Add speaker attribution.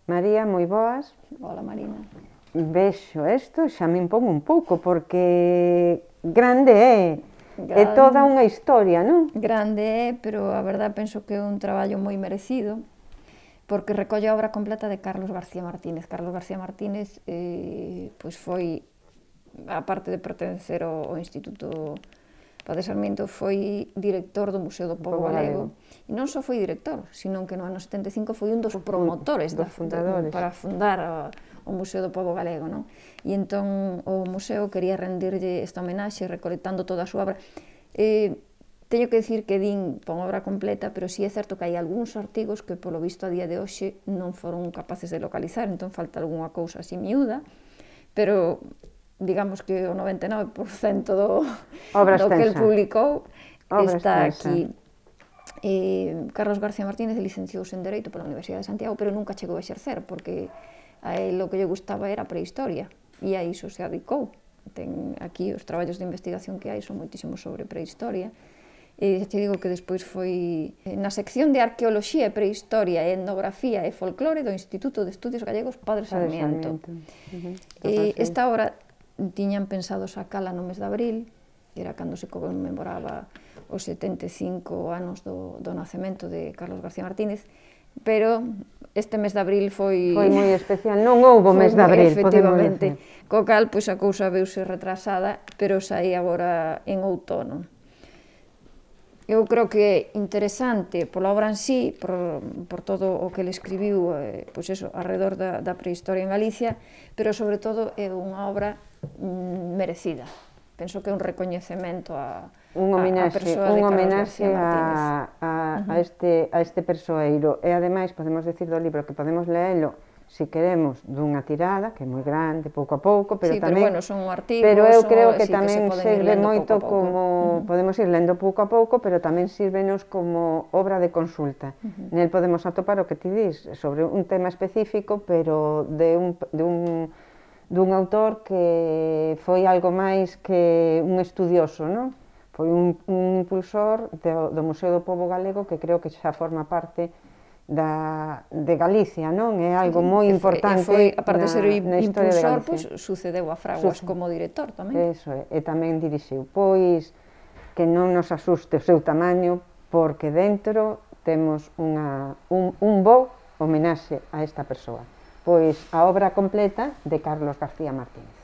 Speaker 1: María, moi boas.
Speaker 2: Hola, Marina.
Speaker 1: Vexo isto, xa me impón un pouco, porque grande é toda
Speaker 2: Gran,
Speaker 1: unha historia, non?
Speaker 2: grande é, pero a verdad penso que é un traballo moi merecido, porque recolle a obra completa de Carlos García Martínez. Carlos García Martínez pois foi, aparte de pertencer ao Instituto Paz de Sarmiento, foi director do Museo do Pobo Galego. E non só foi director, sino que no ano 75 foi un dos promotores
Speaker 1: fundadores.
Speaker 2: para fundar o Museo do Pobo Galego, non? E entón o museo quería rendirlle esta homenaxe recolectando toda a súa obra. Teño que dicir que din pon obra completa, pero sí é certo que hai algúns artigos que polo visto a día de hoxe non foron capaces de localizar, entón falta algunha cousa así miúda, pero digamos que o 99% do que el publicou está aquí. Carlos García Martínez licenciouse en Dereito pola Universidade de Santiago, pero nunca chegou a exercer, porque a él o que lle gustaba era a prehistoria, e a iso se adicou. Ten aquí os traballos de investigación que hai son moitísimos sobre prehistoria, e te digo que despois foi na sección de Arqueoloxía e Prehistoria e Etnografía e Folclore do Instituto de Estudios Gallegos Padre Sarmiento. Esta obra tiñan pensado sacala no mes de abril, era cando se conmemoraba os 75 anos do nacemento de Carlos García Martínez, pero este mes de abril foi
Speaker 1: moi especial, non houbo mes de abril,
Speaker 2: efectivamente, co cal pois a cousa veuse retrasada, pero saí agora en outono. Eu creo que é interesante pola obra en sí, por todo o que ele escribiu, pois eso, alrededor da prehistoria en Galicia, pero sobre todo é unha obra merecida. Penso que é un recoñecemento a persoa de Carlos García Martínez.
Speaker 1: A este persoeiro, e ademais podemos decir do libro que podemos leelo, se queremos, dunha tirada, que é moi grande, pouco a pouco, pero tamén...
Speaker 2: Pero bueno, son artigos,
Speaker 1: pero eu creo que tamén serve moito como... Podemos ir lendo pouco a pouco, pero tamén sírvenos como obra de consulta. Nel podemos atopar o que ti dis, sobre un tema específico, pero de un autor que foi algo máis que un estudioso, non? Foi un impulsor do Museo do Pobo Galego que creo que xa forma parte de Galicia, non? É algo moi importante na historia de Galicia.
Speaker 2: Aparte de ser impulsor, sucedeu a Fraguas como director tamén.
Speaker 1: Eso é, e tamén dirixiu. Pois que non nos asuste o seu tamaño, porque dentro temos un bo homenaxe a esta persoa. Pois a obra completa de Carlos García Martínez.